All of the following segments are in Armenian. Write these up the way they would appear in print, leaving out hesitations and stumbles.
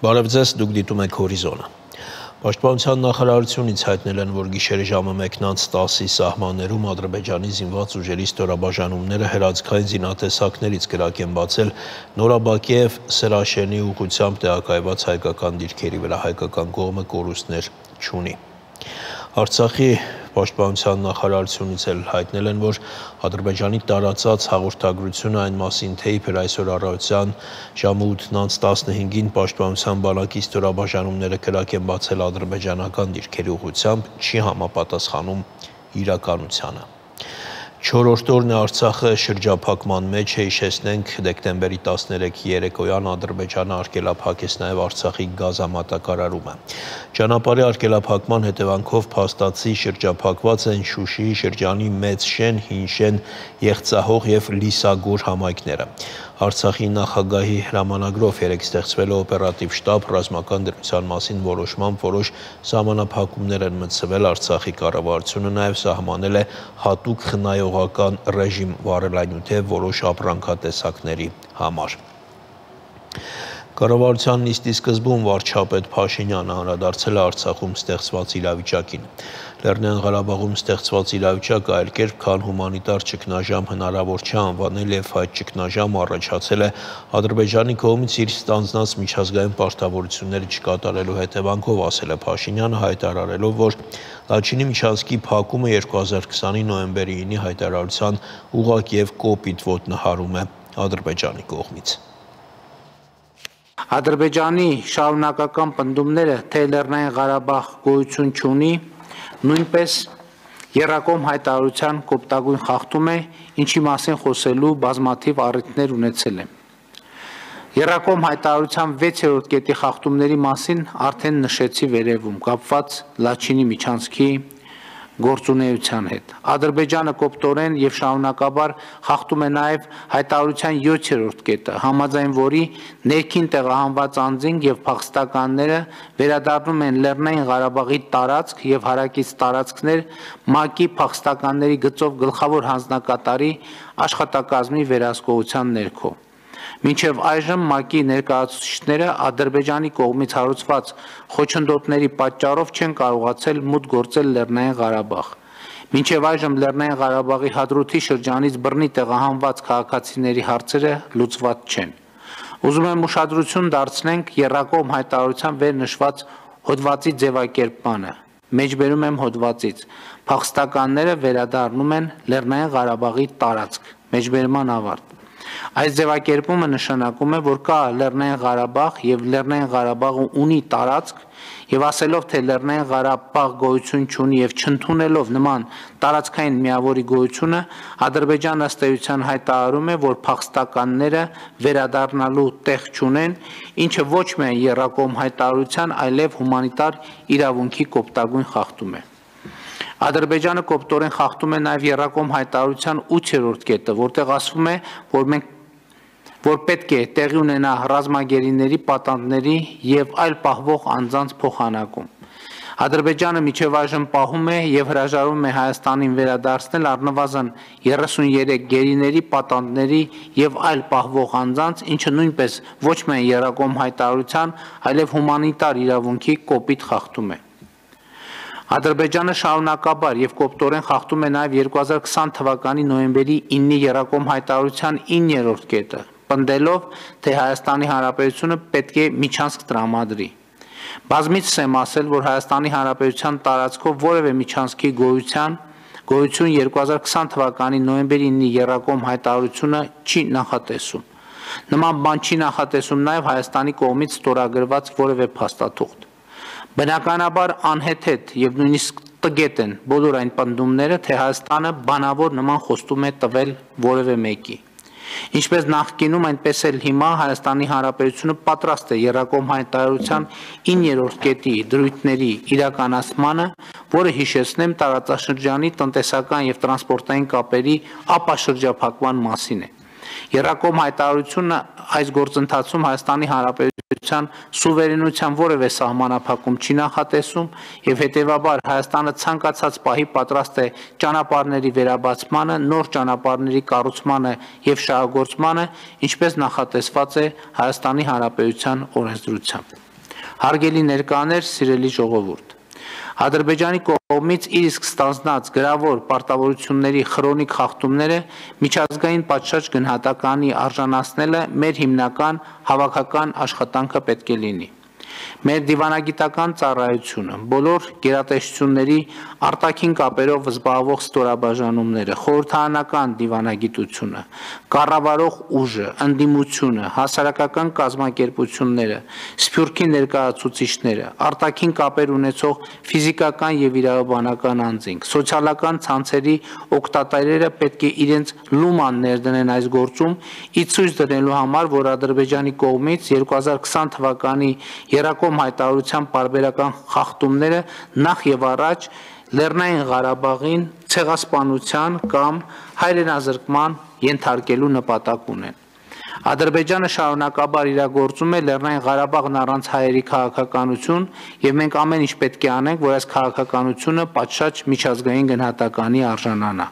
Բարև ձեզ, դուք դիտում եք հորիզոնը։ Պաշտպանության նախարարությունից հայտնել են, որ գիշերը ժամը 1:10-ի սահմաններում Ադրբեջանի զինված ուժերի ստորաբաժանումները հրաձգային զինատեսակներից կրակ են բացել Նորաբակիև Սրաշենի ուղղությամբ տեղակայված հայկական դիրքերի վրա, հայկական կողմը կորուստներ չունի։ Արցախի պաշտպանության նախարարությունից էլ հայտնել են, որ Ադրբեջանի տարածած հաղորդագրությունը այն մասին, թե իբր այսօր առավոտյան ժամը 8:15-ին պաշտպանության բանակի ստորաբաժանումները կրակ են բացել ադրբեջանական դիրքերի ուղղությամբ, չի համապատասխանում իրականությանը։ 4-րդ օրն է Արցախը շրջափակման մեջ է, հիշեցնենք, դեկտեմբերի 13-ի երեկոյան Ադրբեջանը արգելափակեց նաև Արցախի գազամատակարարումը։ Ճանապարհի արգելափակման հետևանքով փաստացի շրջափակված են Շուշիի շրջանի Մեծ Շեն, Հին Շեն, Եղցահող եւ Լիսագոր համայնքները։ Արցախի նախագահի հրամանագրով երեկ ստեղծվել է օպերատիվ շտաբ, ռազմական դրության մասին որոշմամբ որոշ սահմանափակումներ են մտցվել, Արցախի կառավարությունը նաև սահմանել է հատուկ խնայողական ռեժիմ վարելանյութ որոշ ապրանքատեսակների համար։ Կառավարության նիստի սկզբում վարչապետ Փաշինյանը անդրադարձել է Արցախում ստեղծված իրավիճակին։ Լեռնային Ղարաբաղում ստեղծված իրավիճակը այլ կերպ, քան հումանիտար ճգնաժամ հնարավոր չէ անվանել եւ այդ ճգնաժամը առաջացել է Ադրբեջանի կողմից իր ստանձնած միջազգային պարտավորությունները չկատարելու հետևանքով, ասել է Փաշինյանը, հայտարարելով, որ Լաչինի միջանցքի փակումը 2020-ի նոյեմբերի 9-ի հայտարարության ուղղակի եւ կոպիտ ոտնահարում է Ադրբեջանի կողմից։ Ադրբեջանի շարունակական պնդումները, թե Լեռնային Ղարաբաղ գոյություն չունի, նույնպես եռակողմ հայտարարության կոպտագույն խախտում է, ինչի մասին խոսելու բազմաթիվ առիթներ ունեցել է։ Եռակողմ հայտարարության 6-րդ կետի խախտումների մասին արդեն նշեցի վերևում, կապված Լաչինի միջանցքի գործունեության հետ։ Ադրբեջանը կոպտորեն եւ շարունակաբար խախտում է նաեւ հայտարարության 7-րդ կետը, համաձայն որի ներքին տեղահանված անձինք եւ փախստականները վերադառնում են Լեռնային Ղարաբաղի տարածք եւ հարակից տարածքներ ՄԱԿ-ի փախստականների գծով գլխավոր հանձնակատարի աշխատակազմի վերահսկողության ներքո։ Մինչև այժմ ՄԱԿ-ի ներկայացուցիչները Ադրբեջանի կողմից հարուցված խոչընդոտների պատճառով չեն կարողացել մուտք գործել Լեռնային Ղարաբաղ։ Մինչև այժմ Լեռնային Ղարաբաղի Հադրութի շրջանից բռնի տեղահանված քաղաքացիների հարցերը լուծված չեն։ Ուզում եմ ուշադրություն դարձնենք եռակողմ հայտարարության վեր նշված հոդվածի ձևակերպմանը։ Մեջբերում եմ հոդվածից։ Փախստականները վերադառնում են Լեռնային Ղարաբաղի տարածք։ Մեջբերման ավարտ։ Այս ձևակերպումը նշանակում է, որ կա Լեռնային Ղարաբաղ եւ Լեռնային Ղարաբաղը ունի տարածք եւ ասելով, թե Լեռնային Ղարաբաղ գոյություն չունի եւ չընդունելով նման տարածքային միավորի գոյությունը, Ադրբեջանը ըստ էության հայտարարում է, որ փախստականները վերադառնալու տեղ չունեն, ինչը ոչ միայն եռակողմ հայտարարության, այլև հումանիտար իրավունքի կոպտագույն խախտում է։ Ադրբեջանը կոպտորեն խախտում է նաև եռակողմ հայտարարության 8-րդ կետը, որտեղ ասվում է, որ պետք է տեղի ունենա ռազմագերիների, պատանդների եւ այլ պահվող անձանց փոխանակում։ Ադրբեջանը մինչև այժմ պահում է եւ հրաժարվում է Հայաստանին վերադարձնել առնվազն 33 գերիների, պատանդների եւ այլ պահվող անձանց, ինչը նույնպես ոչ միայն եռակողմ հայտարարության, այլև հումանիտար իրավունքի կոպիտ խախտում է։ Ադրբեջանը շարունակաբար եւ կոպտորեն խախտում է նաեւ 2020 թվականի նոյեմբերի 9-ի եռակողմ հայտարարության 9-րդ կետը, պնդելով, թե Հայաստանի Հանրապետությունը պետք է միջանցք տրամադրի։ Բազմիցս եմ ասել, որ Հայաստանի Հանրապետության տարածքով որևէ միջանցքի գոյություն 2020 թվականի նոյեմբերի 9-ի եռակողմ հայտարարությունը չի նախատեսում։ Նման բան չի նախատեսում նաեւ Հայաստանի կողմից ստորագրված որևէ փաստաթուղթ։ Բնականաբար անհեթեթ եւ նույնիսկ տգետ են բոլոր այն պնդումները, թե Հայաստանը բանավոր նման խոստում է տվել որևէ մեկի։ Ինչպես նախկինում, այնպես էլ հիմա Հայաստանի Հանրապետությունը պատրաստ է եռակողմ հայտարարության 9-րդ կետի դրույթների իրականացմանը, որը հիշեցնեմ տարածաշրջանի տնտեսական եւ տրանսպորտային կապերի ապաշրջափակման մասին է։ Եռակողմ հայտարարությունը այս գործընթացում Հայաստանի Հանրապետության սուվերենության որևէ սահմանափակում չի նախատեսում եւ հետեւաբար Հայաստանը ցանկացած պահի պատրաստ է ճանապարհների վերաբացմանը, նոր ճանապարհների կառուցմանը եւ շահագործմանը, ինչպես նախատեսված է Հայաստանի Հանրապետության օրենսդրությամբ։ Հարգելի ներկաներ, սիրելի ժողովուրդ, Ադրբեջանի կողմից իր իսկ ստանձնած գրավոր պարտավորությունների խրոնիկ խախտումները միջազգային պատշաճ գնահատականի արժանացնելը մեր հիմնական հավաքական աշխատանքը պետք է լինի։ Մեր դիվանագիտական ծառայությունը, բոլոր գերատեսչությունների արտաքին կապերով զբաղվող ստորաբաժանումները, խորհրդարանական դիվանագիտությունը, կառավարող ուժը, ընդդիմությունը, հասարակական կազմակերպությունները, սփյուռքի ներկայացուցիչները, արտաքին կապեր ունեցող ֆիզիկական եւ իրավաբանական անձինք, սոցիալական ցանցերի օգտատերերը պետք է իրենց լուման ներդնեն այս գործում, ի ցույց դնելու համար, որ Ադրբեջանի կողմից 2020 թվականի Երակոմ հայտարարության պարբերական խախտումները նախ եւ առաջ Լեռնային Ղարաբաղին ցեղասպանության կամ հայրենազրկման ենթարկելու նպատակ ունեն։ Ադրբեջանը շարունակաբար իրագործում է Լեռնային Ղարաբաղն առանց հայերի քաղաքականություն եւ մենք ամեն ինչ պետք է անենք, որ այս քաղաքականությունը պատշաճ միջազգային գնահատականի արժանանա։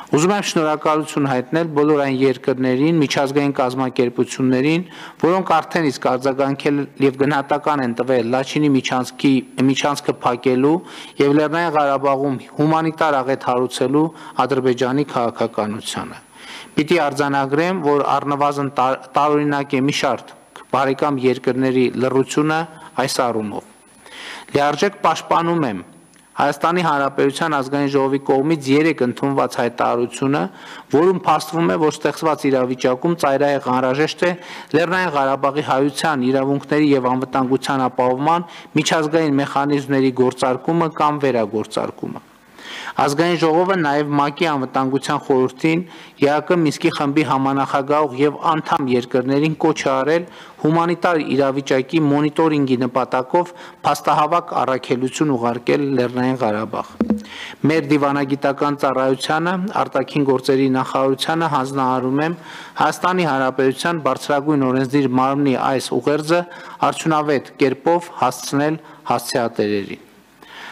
Ուզում եմ շնորհակալություն հայտնել բոլոր այն երկրներին, միջազգային կազմակերպություններին, որոնք արդեն իսկ արձագանքել եւ գնահատական են տվել Լաչինի միջանցքը փակելու եւ Լեռնային Ղարաբաղում հումանիտար աղետ հարուցելու Ադրբեջանի քաղաքականությանը։ Պիտի արձանագրեմ, որ առնվազն տարօրինակ է մի շարք բարեկամ երկրների լռությունը այս առումով։ Լիարժեք պաշտպանում եմ Հայաստանի Հանրապետության ազգային ժողովի կողմից 3 ընդունված հայտարարությունը, որում փաստվում է, որ ստեղծված իրավիճակում ծայրահեղ անհրաժեշտ է Լեռնային Ղարաբաղի հայության իրավունքների եւ անվտանգության ապահովման միջազգային մեխանիզմների գործարկումը կամ վերագործարկումը։ Ազգային ժողովը նաև ՄԱԿ-ի անվտանգության խորհրդին ԵԱԿ Մինսկի խմբի համանախագահող եւ անդամ երկրներին կոչ է արել հումանիտար իրավիճակի մոնիտորինգի նպատակով փաստահավաք առաքելություն ուղարկել Լեռնային Ղարաբաղ։ Մեր դիվանագիտական ծառայությանը, արտաքին գործերի նախարարությանը հանձնարարում եմ Հայաստանի Հանրապետության բարձրագույն օրենսդիր մարմնի այս ուղերձը արդյունավետ կերպով հասցնել հասցեատերերին։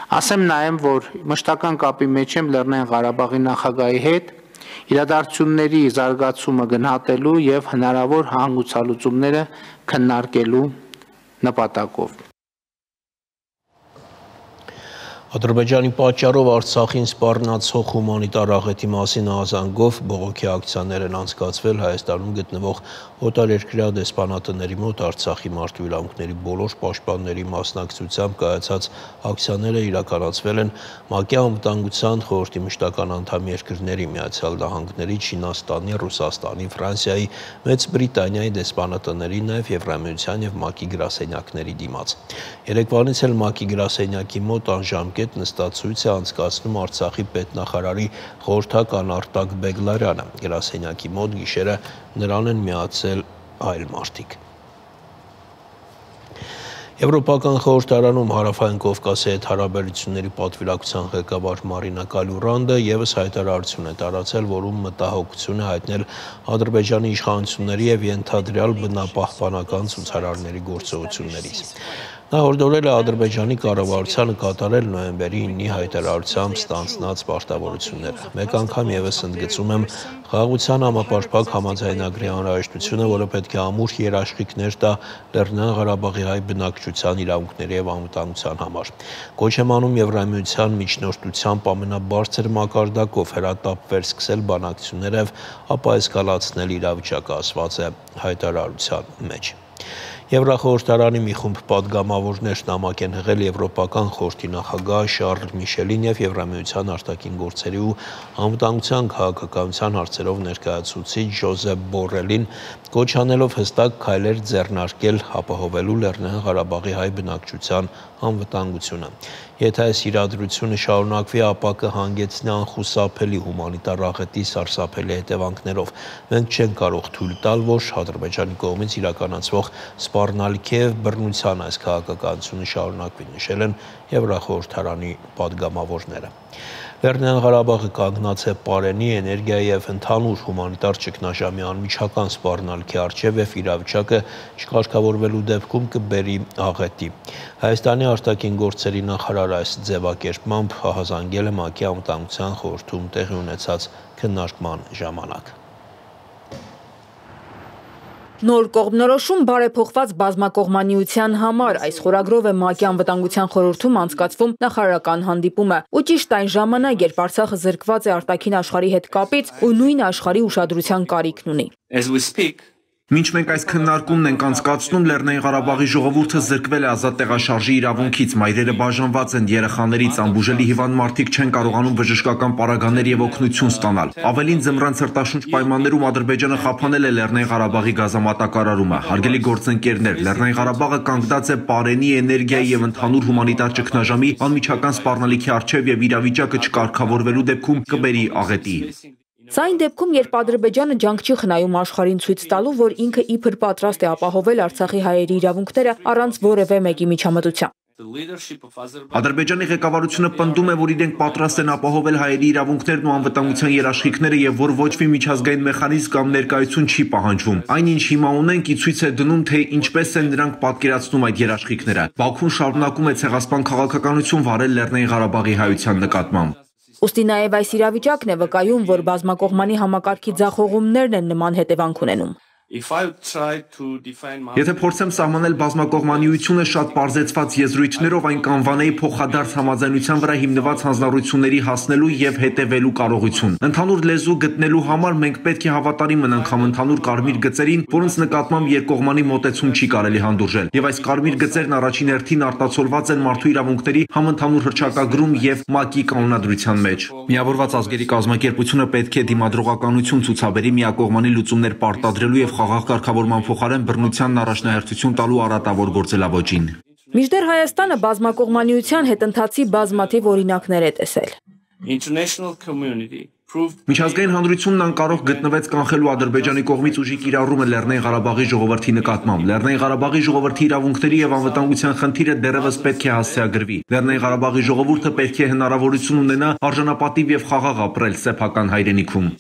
Ասեմ նաև, որ մշտական կապի մեջ եմ Լեռնային Ղարաբաղի նախագահի հետ իրադարձությունների զարգացումը գնահատելու եւ հնարավոր հանգուցալուծումները քննարկելու նպատակով։ Ադրբեջանի պատճառով Արցախին սպառնացող հումանիտար աղետի մասին ահազանգով բողոքի ակցիաներ են անցկացվել Հայաստանում գտնվող օտարերկրյա դեսպանատների մոտ Արցախի մարդու իրավունքների բոլոր պաշտպանների մասնակցությամբ կայացած ակցիաները իրականացվել են ՄԱԿ-ի անվտանգության խորհրդի մշտական անդամ երկրների Միացյալ Նահանգների, Չինաստանի, Ռուսաստանի, Ֆրանսիայի, Մեծ Բրիտանիայի դեսպանատների, նաև Եվրամիության եւ ՄԱԿ-ի գրասենյակների դիմաց։ Երեկվանից էլ ՄԱԿ-ի գրասենյակի մոտ անժամկետ նստացույց է անցկացնում Արցախի պետնախարարի խորհրդական Արտակ Բեգլարյանը։ Գրասենյակի մոտ գիշերը նրան են միացել այլ մարդիկ։ Եվրոպական խորհրդարանում Հարավային Կովկասի հետ հարաբերությունների պատվիրակության ղեկավար Մարինա Կալյուրանդը եւս հայտարարություն է տարածել, որում մտահոգություն է հայտնել Ադրբեջանի իշխանությունների եւ ենթադրյալ բնապահպանական ցուցարարների գործողություններից։ Նա հորդորել է Ադրբեջանի կառավարությանը կատարել նոյեմբերի 9-ի հայտարարությամբ ստանձնած պարտավորությունները։ Մեկ անգամ եւս ընդգծում եմ խաղաղության համապարփակ համաձայնագրի անհրաժեշտությունը, որը պետք է ամուր երաշխիքներ տա Լեռնային Ղարաբաղի հայ բնակչության իրավունքների եւ անվտանգության համար։ Կոչ եմ անում Եվրամիության միջնորդությամբ ամենաբարձր մակարդակով հրատապվել սկսել բանակցություններ եւ ապա էսկալացնել իրավիճակը, ասված է հայտարարության մեջ։ Եվրախորհրդարանի մի խումբ պատգամավորներ նամակ են հղել Եվրոպական խորհրդի նախագահ Շարլ Միշելին եւ Եվրամիության արտաքին գործերի ու անվտանգության քաղաքականության հարցերով ներկայացուցիչ Ժոզեփ Բորելին, կոչ անելով հստակ քայլեր ձեռնարկել ապահովելու Լեռնային Ղարաբաղի հայ բնակչության անվտանգությունը։ Եթե այս իրադրությունը շարունակվի, ապա կհանգեցնի անխուսափելի հումանիտար աղետի սարսափելի հետևանքներով։ Մենք չենք կարող թույլ տալ, որ Ադրբեջանի կողմից իրականացվող սպառնալիքի եւ բռնության այս քաղաքականությունը շարունակվի, նշել են Եվրախորհրդարանի պատգամավորները։ Լեռնային Ղարաբաղը կանգնած է պարենի, էներգիայի եւ ընդհանուր հումանիտար ճգնաժամի անմիջական սպառնալիքի առջեւ եւ իրավիճակը չկարգավորվելու դեպքում կբերի աղետի։ Հայաստանի արտաքին գործերի նախարար այս ձևակերպմամբ ահազանգել է ՄԱԿ-ի անվտանգության խորհրդում տեղի ունեցած քննարկման ժամանակ։ Նոր կողմնորոշում բարեփոխված բազմակողմանիության համար այս խորագրով է ՄԱԿ-ի անվտանգության խորհրդում անցկացվում նախարարական հանդիպումը։ Ու ճիշտ այն ժամանակ, երբ Արցախը զրկված է արտաքին աշխարհի հետ կապից ու նույն աշխարհի ուշադրության կարիքն ունի։ Մինչ մենք այս քննարկումն ենք անցկացնում, Լեռնային Ղարաբաղի ժողովուրդը զրկվել է ազատ տեղաշարժի իրավունքից, մայրերը բաժանված են, երեխաներից անբուժելի հիվանդ մարդիկ չեն կարողանում բժշկական պարագաներ եւ օգնություն ստանալ։ Ավելին ձմռան ցրտաշունչ պայմաններում Ադրբեջանը խափանել է Լեռնային Ղարաբաղի գազամատակարարումը։ Հարգելի գործընկերներ, Լեռնային Ղարաբաղը կանգնած է պարենի, էներգիայի եւ ընդհանուր հումանիտար ճգնաժամի անմիջական սպառնալիքի առջեւ եւ իրավիճակը չկարգավորվելու դեպքում կբերի աղետի։ Սա այն դեպքում, երբ Ադրբեջանը ջանք չի խնայում աշխարհին ցույց տալու, որ ինքը իբր պատրաստ է ապահովել Արցախի հայերի իրավունքները առանց որևէ մեկի միջամտության։ Ադրբեջանի ղեկավարությունը պնդում է, որ իրենք պատրաստ են ապահովել հայերի իրավունքներն ու անվտանգության երաշխիքները եւ որ ոչ մի միջազգային մեխանիզմ կամ ներկայություն չի պահանջվում։ Այնինչ հիմա ունենք, ի ցույց է դնում, թե ինչպես են նրանք պատկերացնում այդ երաշխիքները։ Բաքուն շարունակում է ցեղասպան քաղաքականություն վարել Լեռնային Ղարաբաղի հայության նկատմամբ։ Ուստի նաև այս իրավիճակն է վկայում, որ բազմակողմանի համակարգի ձախողումներն են նման հետևանք ունենում։ Եթե փորձեմ սահմանել բազմակողմանիությունը շատ պարզեցված եզրույթներով, այն կանվանեի փոխադարձ համաձայնության վրա հիմնված հանձնառությունների հասնելու եւ հետեւելու կարողություն։ Ընդհանուր լեզու գտնելու համար մենք պետք է հավատարիմ մնանք համընդհանուր կարմիր գծերին, որոնց նկատմամբ երկկողմանի մոտեցում չի կարելի հանդուրժել։ Եվ այս կարմիր գծերն առաջին հերթին արտացոլված են մարդու իրավունքների համընդհանուր հռչակագրում եւ ՄԱԿ-ի կանոնադրության մեջ։ Միավորված ազգերի կազմակերպությունը պետք է դիմադրողականություն ցուցաբերի միակողմանի լուծումներ պարտադրելու եւ խաղաղ կարգավորման փոխարեն բռնությանն առաջնահերթություն տալու առատավոր գործելավոճին։ Մինչդեռ Հայաստանը բազմակողմանիության հետընթացի բազմաթիվ օրինակներ է տեսել։ Միջազգային հանրությունն անկարող գտնվեց կանխելու Ադրբեջանի կողմից ուժի կիրառումը Լեռնային Ղարաբաղի ժողովրդի նկատմամբ։ Լեռնային Ղարաբաղի ժողովրդի իրավունքների եւ անվտանգության խնդիրը դեռևս պետք է հասցեագրվի։ Լեռնային Ղարաբաղի ժողովուրդը պետք է հնարավորություն ունենա արժանապատիվ եւ խաղաղ ապրել սեփական հայրենիքում։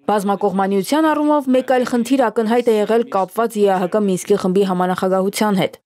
Բազմակողմանիության առումով մեկ այլ խնդիր ակնհայտ է եղել կապված ԵԱՀԿ Մինսկի խմբի համանախագահության հետ։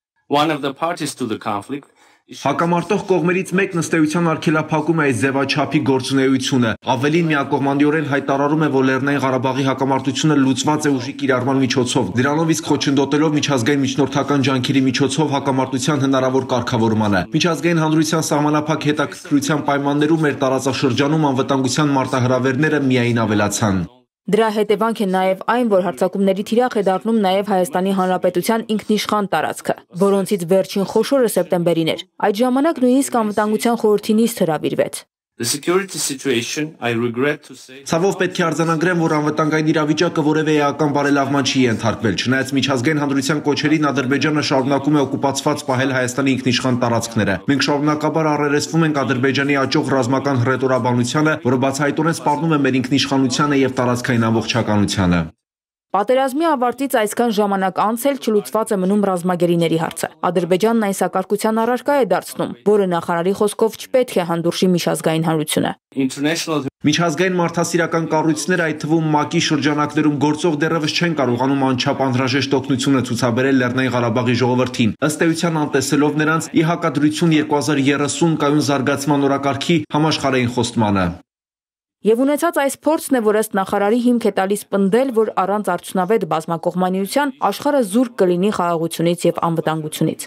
Հակամարտող կողմերից մեկն ըստ էության արգելափակում է այս ձևաչափի գործունեությունը։ Ավելին միակողմանիորեն հայտարարում է, որ Լեռնային Ղարաբաղի հակամարտությունը լուծված է ուժի կիրառման միջոցով։ Դրանով իսկ խոչընդոտելով միջազգային միջնորդական ջանքերի միջոցով հակամարտության հնարավոր կարգավորմանը։ Միջազգային հանրության սահմանափակ հետաքրքրության պայմաններում մեր տարածաշրջանում անվտանգության մարտահրավերները միայն ավելացան։ Դրա հետևանք է նաև այն, որ հարձակումների թիրախ է դառնում նաև Հայաստանի Հանրապետության ինքնիշխան տարածքը, որոնցից վերջին խոշորը սեպտեմբերին էր։ Այդ ժամանակ նույնիսկ անվտանգության խորհրդի նիստ հրավիրվեց։ Ցավով պետք է արձանագրեմ, որ անվտանգային իրավիճակը որևէ էական բարելավման չի ենթարկվել, չնայած միջազգային հանրության կոչերին Ադրբեջանը շարունակում է օկուպացված պահել Հայաստանի ինքնիշխան տարածքները։ Մենք շարունակաբար առերեսվում ենք Ադրբեջանի աճող ռազմական հռետորաբանությանը, որը բացահայտորեն սպառնում է մեր ինքնիշխանությանը եւ տարածքային ամբողջականությանը։ Պատերազմի ավարտից այսքան ժամանակ անց էլ չլուծված է մնում ռազմագերիների հարցը։ Ադրբեջանն այն սակարկության առարկա է դարձնում, որը նախարարի խոսքով չպետք է հանդուրժի միջազգային հանրությունը։ Միջազգային մարդասիրական կառույցները, այդ թվում ՄԱԿ-ի շրջանակներում գործող, դեռևս չեն կարողանում անչափ անհրաժեշտ օգնությունը ցուցաբերել Լեռնային Ղարաբաղի ժողովրդին, ըստ էության անտեսելով նրանց ի հակադրություն 2030 կայուն զարգացման օրակարգի համաշխարհային խոստմանը։ Եվ ունեցած այս փորձն է, որ ըստ նախարարի հիմք է տալիս պնդել, որ առանց արդյունավետ բազմակողմանիության աշխարհը զուրկ կլինի խաղաղությունից եւ անվտանգությունից։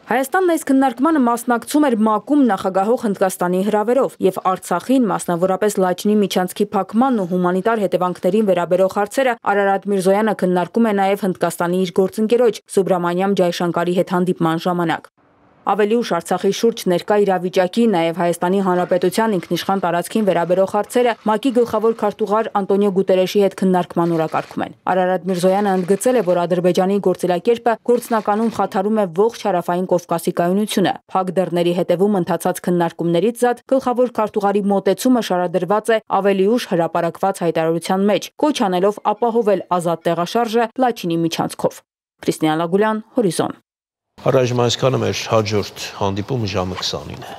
Հայաստանն այս քննարկմանը մասնակցում էր ՄԱԿ-ում նախագահող Հնդկաստանի հրավերով եւ Արցախին, մասնավորապես Լաչինի միջանցքի փակմանն ու հումանիտար հետևանքներին վերաբերող հարցերը Արարատ Միրզոյանը քննարկում է նաեւ Հնդկաստանի իր գործընկերոջ Սուբրամանյամ Ջայշանկարի հետ հանդիպման ժամանակ։ Ավելի ուշ Արցախի շուրջ ներկա իրավիճակի, նաև Հայաստանի Հանրապետության ինքնիշխան տարածքին վերաբերող հարցերը ՄԱԿ-ի գլխավոր քարտուղար Անտոնիո Գուտերեշի հետ քննարկման օրակարգում են։ Արարատ Միրզոյանը ընդգծել է, որ Ադրբեջանի գործելակերպը գործնականում խաթարում է ողջ հարավային Կովկասի կայունությունը։ Փակ դռների հետևում ընթացած քննարկումներից զատ գլխավոր քարտուղարի մոտեցումը շարադրված է ավելի ուշ հրապարակված հայտարարության մեջ, կոչ անելով ապահովել ազատ տեղաշարժը Լաչինի միջանցքով։ Քրիստիան Լագուլյան, Հորիզոն։ Առայժմ այսքանը մեր հաջորդ հանդիպումը ժամը 20-ին է։